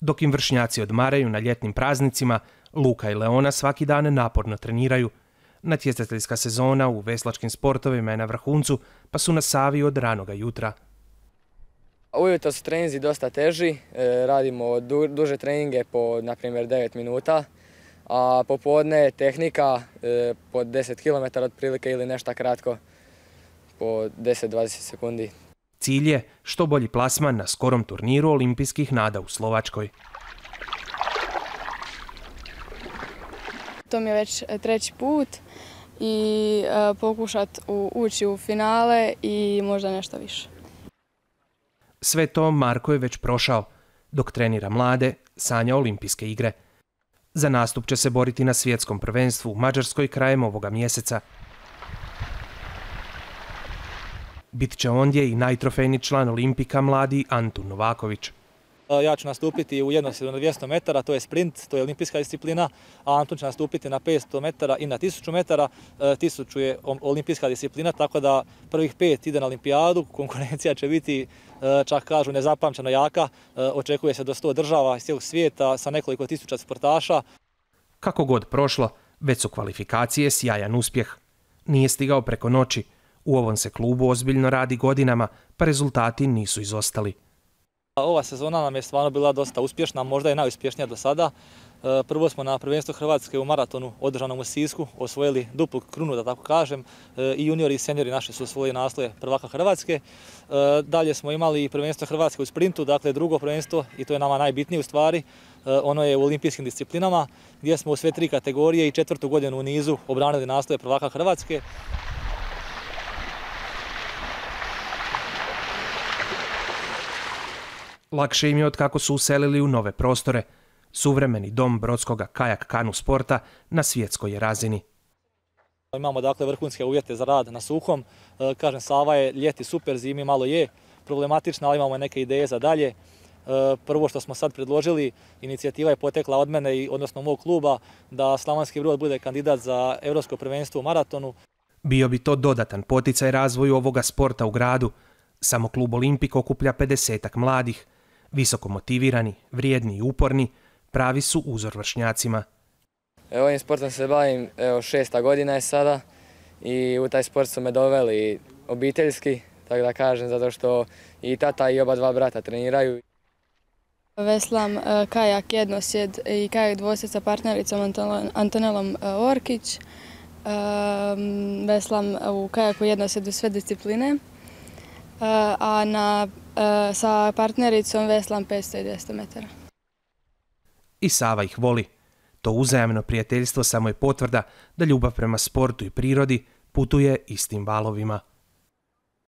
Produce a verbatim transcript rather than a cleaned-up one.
Dok im vršnjaci odmaraju na ljetnim praznicima, Luka i Leona svaki dan naporno treniraju. Natjecateljska sezona u veslačkim sportovima je na vrhuncu, pa su na Savi od ranoga jutra. Ujutro su treninzi dosta teži, radimo duže treninge po, na primjer, devet minuta, a popodne tehnika po deset kilometara otprilike ili nešto kratko po deset do dvadeset sekundi. Cilj je što bolji plasman na skorom turniru olimpijskih nada u Slovačkoj. To mi je već treći put i pokušati ući u finale i možda nešto više. Sve to Marko je već prošao. Dok trenira mlade, sanja olimpijske igre. Za nastup će se boriti na svjetskom prvenstvu u Mađarskoj krajem ovoga mjeseca. Bit će ondje i najtrofejni član Olimpika mladi Antun Novaković. Ja ću nastupiti u jednosedu na dvjesto metara, to je sprint, to je olimpijska disciplina, a Antun će nastupiti na petsto metara i na tisuću metara. tisuću je olimpijska disciplina, tako da prvih pet ide na olimpijadu, konkurencija će biti, čak kažu, nezapamćeno jaka. Očekuje se do sto država iz cijelog svijeta sa nekoliko tisuća sportaša. Kako god prošlo, već su kvalifikacije sjajan uspjeh. Nije stigao preko noći. U ovom se klubu ozbiljno radi godinama, pa rezultati nisu izostali. Ova sezona nam je stvarno bila dosta uspješna, možda je najuspješnija do sada. Prvo smo na prvenstvu Hrvatske u maratonu održanom u Sisku osvojili duplu krunu, da tako kažem. I juniori i seniori naši su osvojili naslove prvaka Hrvatske. Dalje smo imali prvenstvo Hrvatske u sprintu, dakle drugo prvenstvo, i to je nama najbitnije u stvari. Ono je u olimpijskim disciplinama, gdje smo u sve tri kategorije i četvrtu godinu u nizu obranili naslove prvaka Hrvatske. Lakše im je od kako su uselili u nove prostore. Suvremeni dom brodskoga kajak kanu sporta na svjetskoj je razini. Imamo dakle vrhunske uvjete za rad na suhom. Kažem, Sava je ljeti super, zimi malo je problematična, ali imamo neke ideje za dalje. Prvo što smo sad predložili, inicijativa je potekla od mene, odnosno mog kluba, da Slavonski Brod bude kandidat za Europsko prvenstvo u maratonu. Bio bi to dodatan poticaj razvoju ovoga sporta u gradu. Samo klub Olimpik okuplja pedesetak mladih. Visoko motivirani, vrijedni i uporni, pravi su uzor vršnjacima. Ovim sportom se bavim, evo, šesta godina je sada i u taj sport su me doveli obiteljski, tako da kažem, zato što i tata i oba dva brata treniraju. Veslam kajak jednosjed i kajak dvosjed sa partnericom Antonelom Orkić. Veslam u kajaku jednosjedu sve discipline, a na, sa partnericom veslam petsto i dvjesto metara. I Sava ih voli. To uzajamno prijateljstvo samo je potvrda da ljubav prema sportu i prirodi putuje istim valovima.